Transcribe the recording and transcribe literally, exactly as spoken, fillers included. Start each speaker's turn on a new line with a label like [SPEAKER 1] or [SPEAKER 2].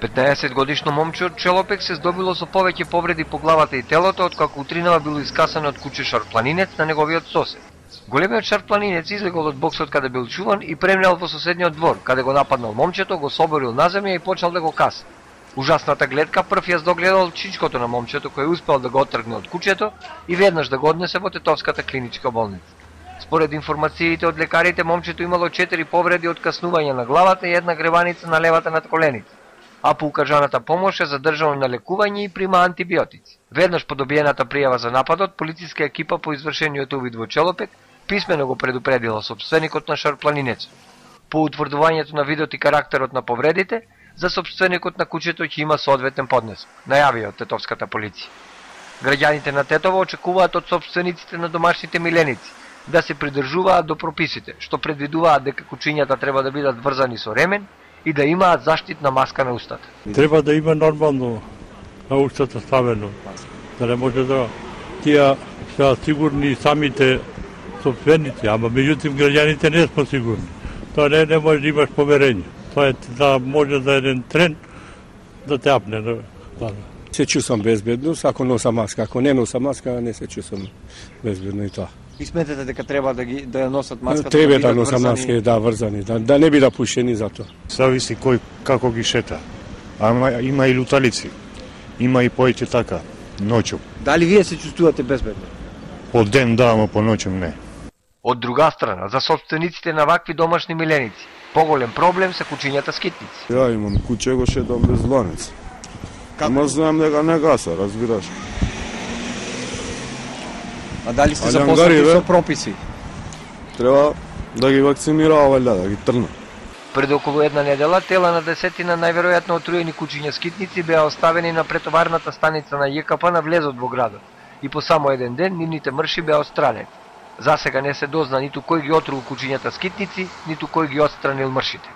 [SPEAKER 1] петнаесет годишно момче од Челопек се здобило со повеќе повреди по главата и телото, откако утринава било искасано од куќе шарпланинец на неговиот сосед. Големиот шарпланинец излегол од боксот каде бил чуван и преминал во соседниот двор, каде го нападнал момчето, го соборил на земја и почнал да го каса. Ужасната гледка прв ја догледал чичкото на момчето, кој успел да го оттргне од куќето и веднаш да го однесе во Тетовската клиничка болница. Според информациите од лекарите, момчето имало четири повреди од каснување на главата и една греваница на левата надколеница, а по укажаната помош е задржано на лекување и прима антибиотици. Веднаш по добиената пријава за нападот, полициска екипа по извршениот увид во Челопек писмено го предупредила сопственикот на шарпланинецот. По утврдувањето на видот и карактерот на повредите, за сопственикот на куќето ќе има соодветен поднесок, најави од Тетовската полиција. Граѓаните на Тетово очекуваат од сопствениците на домашните миленици да се придржуваат до прописите, што предвидуваат дека кучињата треба да бидат врзани со ремен и да имаат заштитна маска на устата.
[SPEAKER 2] Треба да има нормално на устата ставено, да не може да тие се сигурни самите сопственици, ама меѓутоа граѓаните не сме сигурни. Тоа не, не може да имаш поверење. Тоа е да може за еден трен да те апне. Да.
[SPEAKER 3] Се чувствам безбедно, ако носам маска, ако не носам маска, не се чувствам безбедно и тоа.
[SPEAKER 4] И сметате дека треба да ги да носат маската?
[SPEAKER 3] Треба да, да носам маска, да, врзани, да, да не бида пушени за тоа.
[SPEAKER 5] Зависи кој како ги шета. Ама има и луталици. Има и поеќе така, ноќу.
[SPEAKER 4] Дали вие се чувствувате безбедно?
[SPEAKER 5] По ден да, ама по ноќу не.
[SPEAKER 1] Од друга страна, за собствениците на вакви домашни миленици, поголем проблем се кучињата скитници.
[SPEAKER 6] Ја имам куќе, го шетам без ланец. Ама знам дека не гаса, разбираш.
[SPEAKER 4] А дали сте запознати со прописи?
[SPEAKER 6] Треба да ги вакцинираа, валја, да ги трна.
[SPEAKER 1] Пред околу една недела, тела на десетина најверојатно отруени кучиња скитници беа оставени на претоварната станица на Ј К П на влезот во градот и по само еден ден нивните мрши беа отстранени. За сега не се дозна ниту кој ги отрул кучињата скитници, ниту кој ги отстранил мршите.